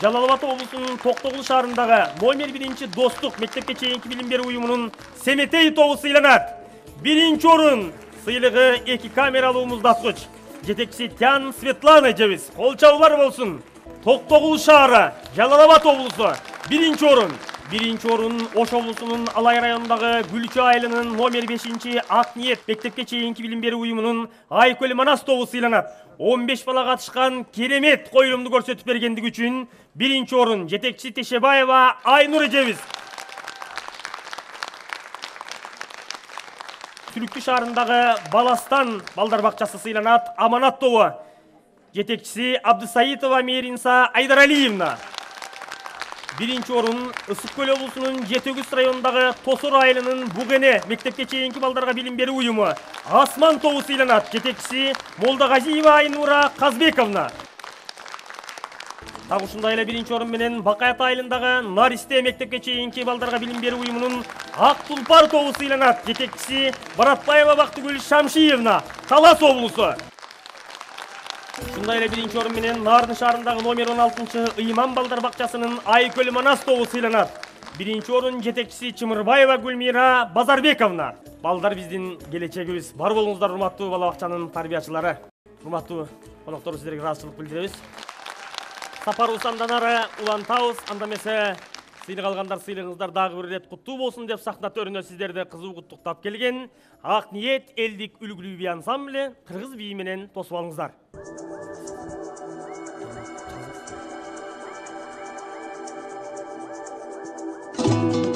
Жалал Абад облусунун Токтогул шаарындагы номер биринчи достук мектепке чейинки билим берүү уюмунун Семетей тобу сыйланат. Биринчи орун сыйлыгы эки камералуу муздаткыч. Жетекчиси Тян Светлана жебиз. Кол чабуулар болсун. Токтогул шаары, Жалал Абад облусу. Биринчи орун. Биринчи орун Ош облусунун Алай районундагы Гүлчү айылынын номер бешинчи Ак Ниет мектепке чейинки билим берүү уюмунун Айкөл Манас тобу сыйланат. он беш бала катышкан керемет коюлумду көрсөтүп бергендиги үчүн биринчи орун жетекчиси Тешебаева Айнур эжебиз. Түлүктү шаарындагы Баластан балдар бакчасы сыйланат. Аманат тобу. Жетекчиси Абдысаитова Меринса Айдаралиевна. Биринчи орун Ысык Көл облусунун Жетөгүз районундагы Тосор айылынын Бугене мектепке чейинки балдарга билим берүү уюму Асман тобу сыйланат. Жетекчиси Молдагазиева Айнура Казбековна. Так ушундай эле биринчи орун менен Бакаят айылындагы Наристе мектепке чейинки балдарга билим берүү уюмунун Ак Тулпар тобу сыйланат. Жетекчиси Баратбаева Бактыгүл Шамшиевна, Талас облусу. Ушундай эле биринчи орун менен Нарын шаарындагы номер он алтынчы Ыйман балдар бакчасынын Айкөл Манас тобу сыйланат. Биринчи орун жетекчиси Чымырбаева Гүлмира Базарбековна. Балдар биздин келечегибиз. Бар болуңуздар, урматтуу бала бакчанын тарбиячылары. Урматтуу коноктор, сиздерге ыраазычылык билдиребиз. Сапарыбызды андан ары улантабыз. Анда эмесе сыйлык алгандар сыйлыгыңыздар дагы бир ирет куттуу болсун деп сахна төрүнө сиздерди кызуу куттуктап келген Ак Ниет элдик үлгүлүү бий ансамбле кыргыз бийи менен тосуп алыңыздар. Thank you.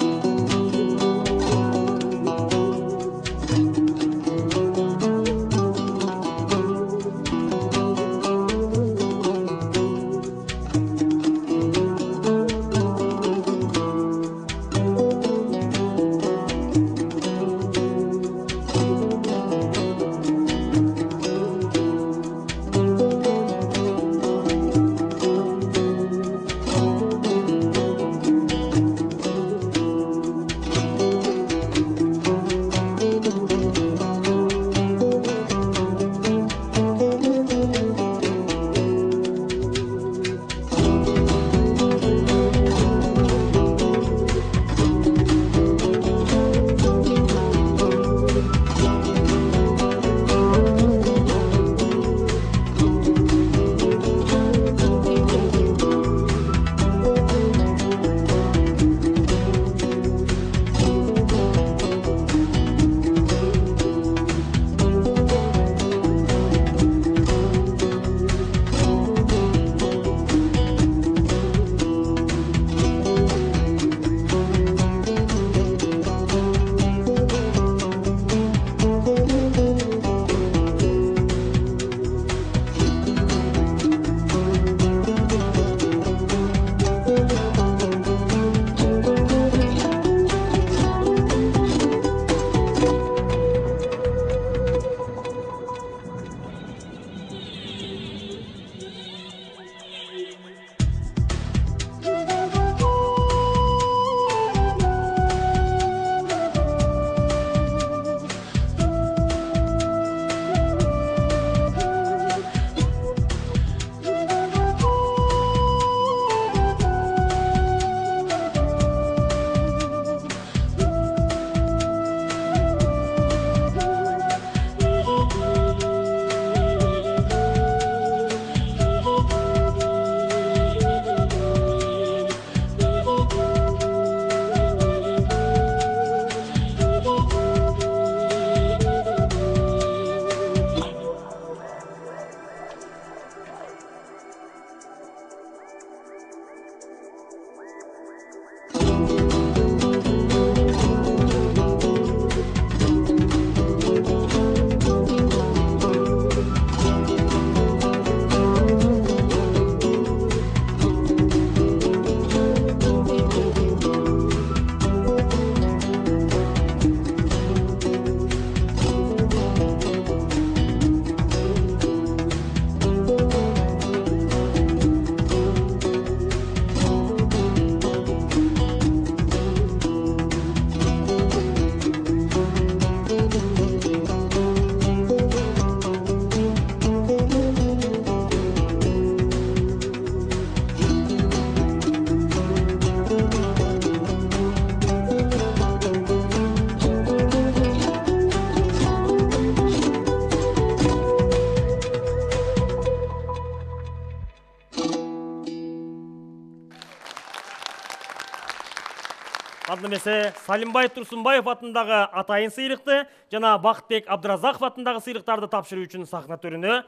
анда эмесе Салимбай Турсунбаев атындагы атайын сыйлыкты жана Бактбек Абдыразаков атындагы сыйлыктарды тапшыруу үчүн сахна төрүнө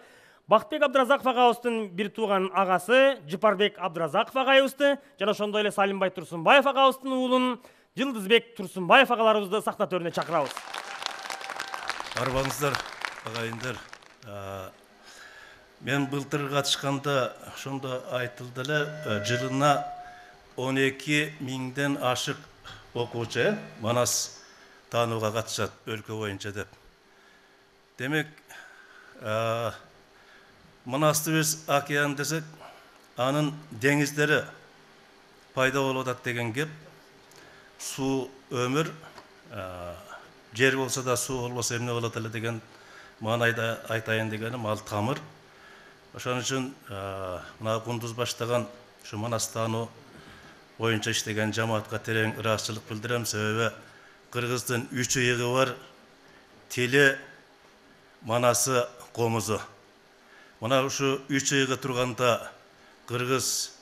Бактбек Абдыразаков агабыздын бир тууган агасы Жыпарбек Абдыразаков агайыбызды жана ошондой эле Салимбай Турсунбаев агабыздын уулун Жылдызбек Турсунбаев агаларыбызды сахна төрүнө чакырабыз. Арбаңыздар, агайындар. Мен былтыр катышканда ошондо айтылды эле, жылына он эки миңден ашык окуучу Манас таанууга катышат өлкө боюнча деп. Демек, Манасты биз океан десек, анын деңиздери пайда болуп атат деген кеп. Суу өмүр, жер болсо да суу болбосо эмне болот эле деген маанайда айтайын дегеним ал тамыр. Ошон үчүн мына Кундуз баштаган ушу Манас таануу боюнча иштеген жамаатка терең ыраазычылык билдирем. Себеби кыргыздын үч ыйыгы бар, тили, манасы, комузу. Мына ушу үч ыйыгы турганда кыргыз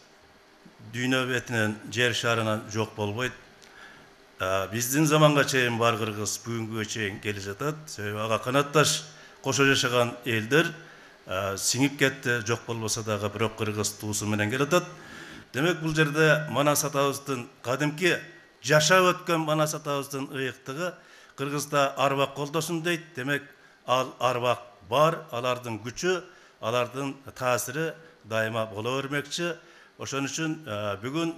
дүйнө бетинен, жер шарынан жок болбойт. Биздин заманга чейин бар кыргыз бүгүнгүгө чейин келе жатат. Себеби ага канатташ кошо жашаган элдер сиңип кетти, жок болбосо дагы бирок кыргыз туусу менен келатат. Демек бул жерде Манас атабыздын кадимки жашап өткөн Манас атабыздын ыйыктыгы кыргызда арбак колдосун дейт. Демек ал арбак бар, алардын күчү, алардын таасири дайыма боло бермекчи. Ошон үчүн бүгүн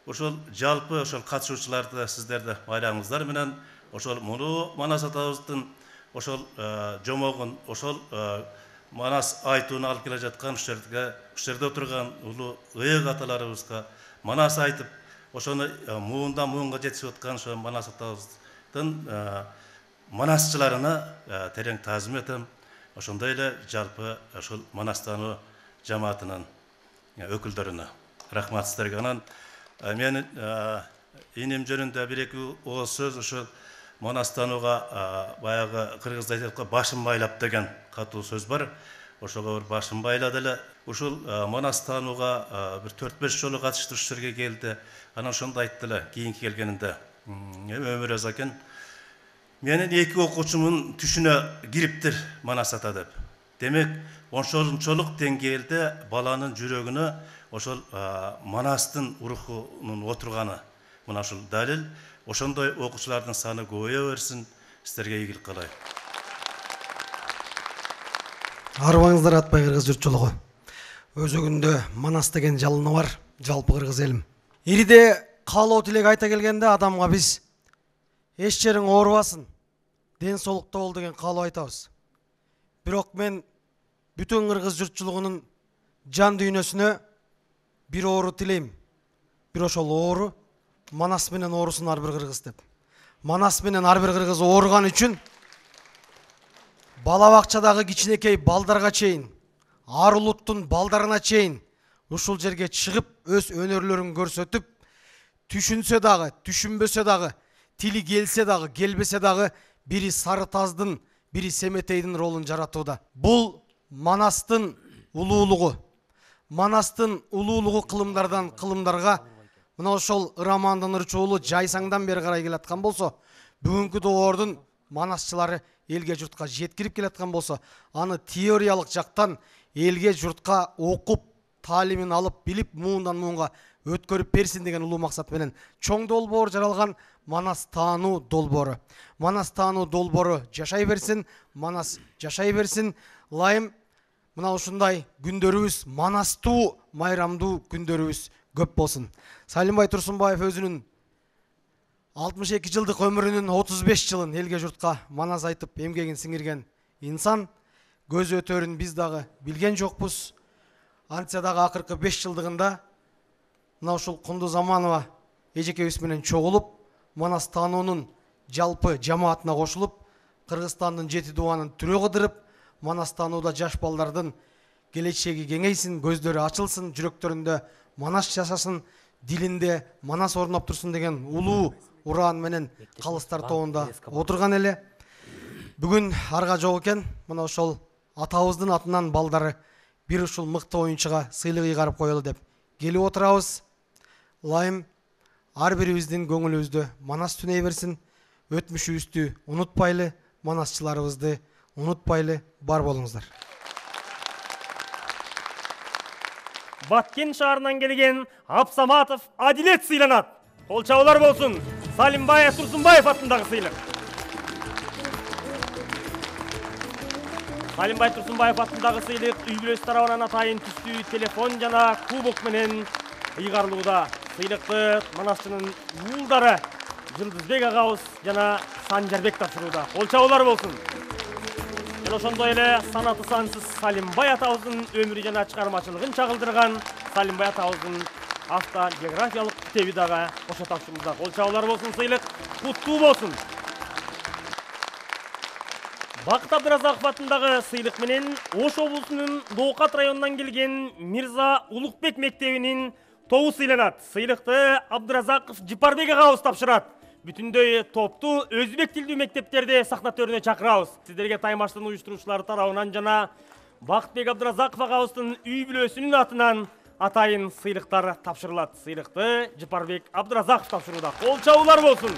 ошол жалпы ошол катышуучуларды сиздерди байлаңыздар менен ошол муну Манас атабыздын ошол жомогун, ошол Манас айтууну алып келе жаткан ушул жерге, ушул жерде отурган улуу ыйык аталарыбызга Манас айтып, ошону муундан муунга жетишип аткан ошол Манас атабыздын манасчыларына терең таазим этем. Ошондой эле жалпы ошол Манас таануу жамаатынын өкүлдөрүнө рахмат сиздерге. Анан мен иним жөнүндө бир эки ооз сөз ошол Манас таанууга баягы кыргызда айтат башын байлап деген катуу сөз бар. Ошого бир башын байлады эле. Ушул Манас таанууга бир төрт беш жолу катышты, ушул жерге келди. Анан ошондо айтты эле кийинки келгенинде. Өмүр экен. Менин эки окуучумун түшүнө кириптир Манас ата деп. Демек, ошончолук деңгээлде баланын жүрөгүнө ошол Манастын рухунун отурганы мына ушул далил. Ошондой окуучулардын саны көбөйө берсин. Сиздерге ийгилик каалайм. Арбаңыздар атпай кыргыз журтчулугу. Өзөгүндө Манас деген жалыны бар, жалпы кыргыз элим. Ириде каалоо тилек айта келгенде адамга биз эч жериң оорубасын, ден соолукта бол деген каалоо айтабыз. Бирок мен бүтүн кыргыз журтчулугунун жан дүйнөсүнө бир оору тилейм. Бир ошол оору Манас менен оорусун ар бир кыргыз деп. Манас менен ар бир кыргыз ооруган үчүн бала бакчадагы кичинекей балдарга чейин, ар улуттун балдарына чейин ушул жерге чыгып өз өнөрлөрүн көрсөтүп, түшүнсө дагы, түшүнбөсө дагы, тили келсе дагы, келбесе дагы бири Сары Таздын, бири Семетейдин ролун жаратууда. Бул Манастын улуулугу. Манастын улуулугу кылымдардан кылымдарга мына ошол Ырамандын ырчуулу жайсаңдан бери карай келаткан болсо, бүгүнкү доордун манасчылары элге журтка жеткирип келаткан болсо, аны теориялык жактан элге журтка окуп, таалимин алып, билип, муундан муунга өткөрүп берсин деген улуу максат менен чоң долбоор жаралган Манас таануу долбоору. Манас таануу долбоору жашай берсин, Манас жашай берсин. Лайым мына ушундай күндөрүбүз, манастуу, майрамдуу күндөрүбүз көп болсун. Салимбай Турсунбаев өзүнүн алтымыш эки жылдык өмүрүнүн отуз беш жылын элге журтка манас айтып эмгегин сиңирген инсан. Көз өтөрүн биз дагы билген жокпуз. Антса дагы акыркы беш жылдыгында мына ушул Кундуз Аманова эжекебиз менен чогулуп, Манас таануунун жалпы жамаатына кошулуп, Кыргызстандын жети дубанын түрө кыдырып, Манас таанууда жаш балдардын келечеги кеңейсин, көздөрү ачылсын, жүрөктөрүндө Манас жашасын, дилинде Манас орноп турсун деген улуу ураан менен калыстар тобунда отурган эле. Бүгүн арга жок экен, мына ошол атабыздын атынан балдары бир ушул мыкты оюнчуга сыйлык ыйгарып коелу деп келип отурабыз. Лайым ар бирибиздин көңүлүбүздө Манас түнөй берсин. Өтмүшүбүздү унутпайлы, манасчыларыбызды унутпайлы. Бар болуңуздар. Баткен шаарынан келген Абсаматов Адилет сыйланат. Кол чабуулар болсун. Салимбай Турсунбаев атындагы сыйлык. Салимбай Турсунбаев атындагы сыйлык үй бүлөсү тарабынан атайын түстүү телефон жана кубок менен ыйгарылууда. Сыйлыкты Манасчынын уулдары Жылдызбек агабыз жана Санжарбек тапшырууда. Кол чабуулар болсун. Жана ошондой эле санаты сансыз Салимбай атабыздын өмүрү жана чыгармачылыгын чагылдырган Салимбай атабыздын автогеографиялык китеби дагы кошо тапшырылууда. Кол чабуулар болсун, сыйлык куттуу болсун. Бакыт Абдыразаков атындагы сыйлык менен Ош облусунун Доокат районунан келген Мирза Улукбек мектебинин тобу сыйланат. Сыйлыкты Абдыразаков Жипарбек агабыз тапшырат. Бүтүндөй топту өзбек тилдүү мектептерде сахна төрүнө чакырабыз. Сиздерге таймаштын уюштуруучулары тарабынан жана Бактыбек Абдыразаков агабыздын үй бүлөсүнүн атынан атайын сыйлыктар тапшырылат. Сыйлыкты Жипарбек Абдыразаков тапшырууда. Кол чабуулар болсун.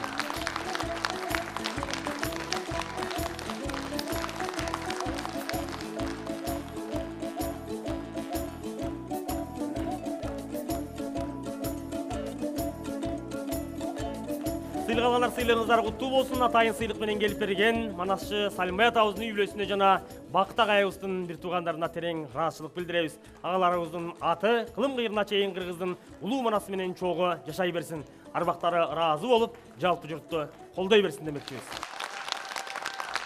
Сыйлык алгандар сыйлыгыңыздар куттуу болсун. Атайын сыйлык менен келип берген Манасчы Салимбай атабыздын үй бүлөсүнө жана Бакыт агайыбыздын бир туугандарына терең ыраазычылык билдиребиз. Агаларыбыздын аты кылым кыйрына чейин кыргыздын улуу манасы менен чогуу жашай берсин. Арбактары ыраазы болуп, жалпы журтту колдой берсин демекчибиз.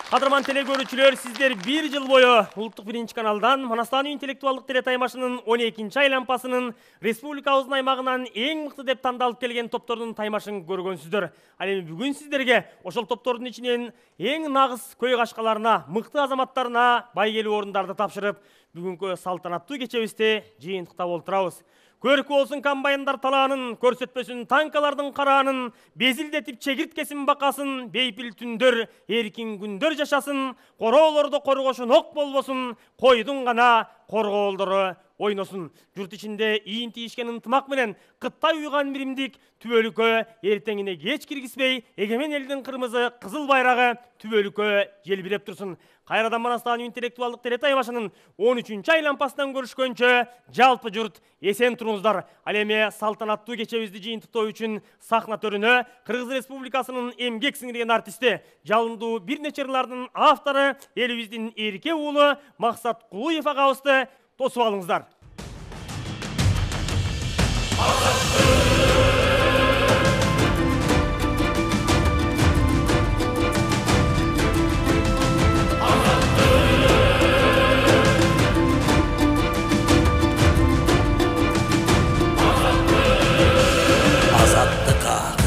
Кадырман теле көрүүчүлөр, сиздер бир жыл бою Улуттук биринчи каналдан Манастан интеллектуалдык телетаймашынын он экинчи айлампасынын республикабыздын аймагынан эң мыкты деп тандалып келген топтордун таймашын көргөнсүздөр. Ал эми бүгүн сиздерге ошол топтордун ичинен эң нагыз көй кашкаларына, мыкты азаматтарына байгелүү орундарды тапшырып, бүгүнкү салтанаттуу кечебизде жыйынтыктап олтурабыз. Көркү болсун комбайндар талаанын, көрсөтпөсүн танкалардын караанын, безилдетип чегирткесин бакасын, бейпил түндөр, эркин күндөр жашасын, короолордо коргошун ок болбосун, койдун гана коргоолдору ойносун. Журт ичинде ийин тийишкен ынтымак менен кыттай уйган биримдик түбөлүккө эртеңине кеч киргизбей, эгемен элдин кырмызы кызыл байрагы түбөлүккө желбиреп турсун. Кайрадан Манастан интеллектуалдык телетаймашынын он үчүнчү айланпасынан көрүшкөнчө жалпы журт эсен туруңуздар. Ал эми салтанаттуу кечебизди жыйынтыктоо үчүн сахна төрүнө Кыргыз Республикасынын эмгек сиңирген артисти, жалындуу бир нече ырлардын автору, элибиздин эрке уулу Максат Кулуев агабызды тосуп алыңыздар.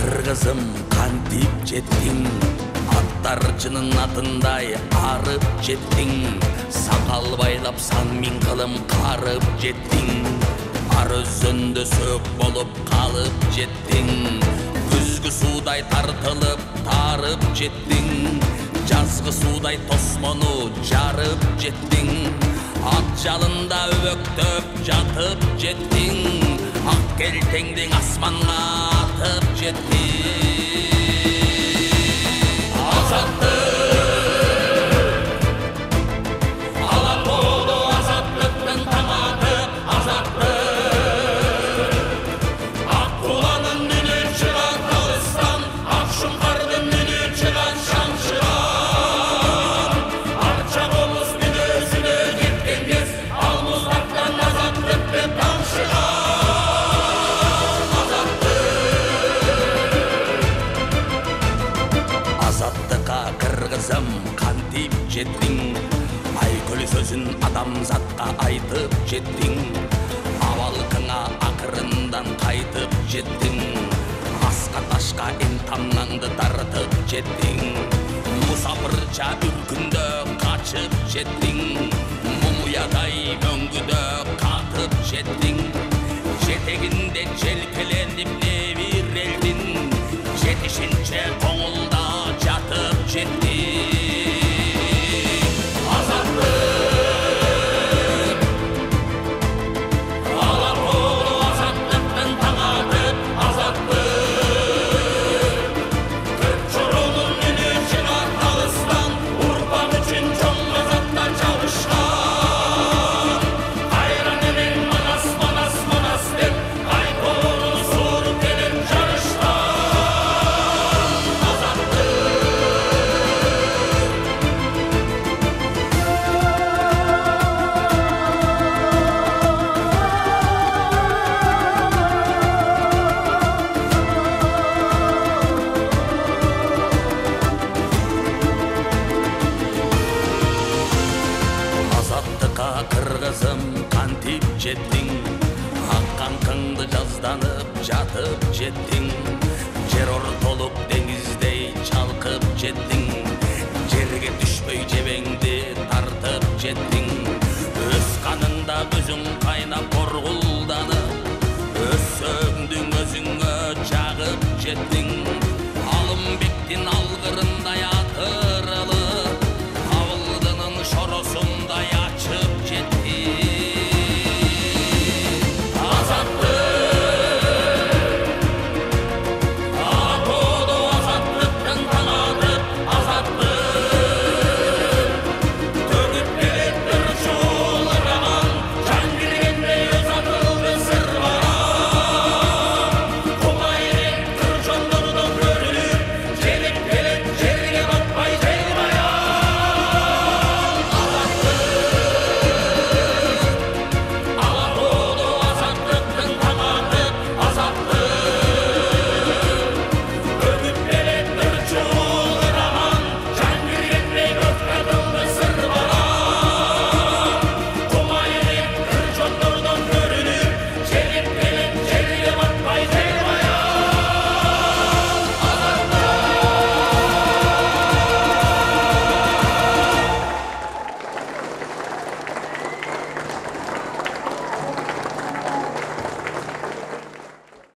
Кыргызым кантип жеттиң, аттарчынын атындай арып жеттиң, сакал байлап сан миң кылым карып жеттиң, ар өзөндө сөөк болуп калып жеттиң, күзгү суудай тартылып тарып жеттиң, жазгы суудай тосмону жарып жеттиң, ат жалында өбөктөп жатып жеттиң, ак келтеңдиң асманга атып жеттиң. Кантип жеттиң, айкөл сөзүн адамзатка айтып жеттиң, абалкыңа акырындан кайтып жеттиң, аска ташка энтамнаңды тартып жеттиң, мусапырча үркүндө качып жеттиң, мумуядай мөңгүдө катып жеттиң, жетегинде желкеленип небирелдин, жетишинче коңулда жатып жеттиң. Azatlık, alapolu azatlıktın taң атып, azatlık. жеттиң, аккан кыңды жазданып жатып жеттиң, жер ортолук деңиздей чалкып жеттиң.